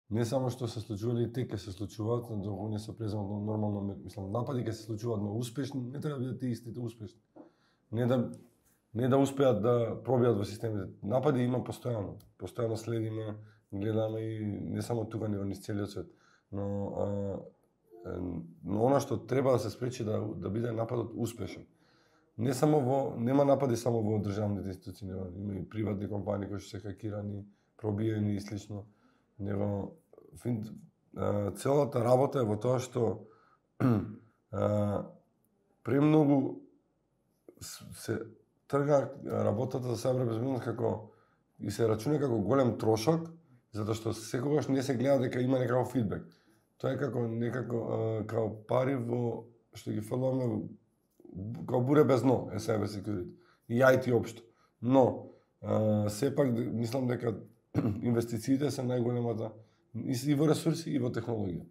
не само што се случували и те ќе се случуваат, доколку не се преземат нормално, мислам, напади ќе се случуваат, но успешни не треба да бидат истите успешни. Не да успеат да пробијат во системите. Напади има постојано. Постојано следиме, гледаме и не само тука, него низ целиот свет. Но она што треба да се спречи да биде нападот успешен. Нема напади само во државните институции, има и приватни компании кои што се хакирани, пробиени и слично. Него целата работа е во тоа што премногу се трга работата за сајбер безбедност како и се рачуна како голем трошок, затоа што секогаш не се гледа дека има некаков фидбек. Тоа е како пари во што ги фрламе како буре без дно, е cyber security. И IT општо. Но сепак мислам дека инвестициите се најголемата и во ресурси и во технологија.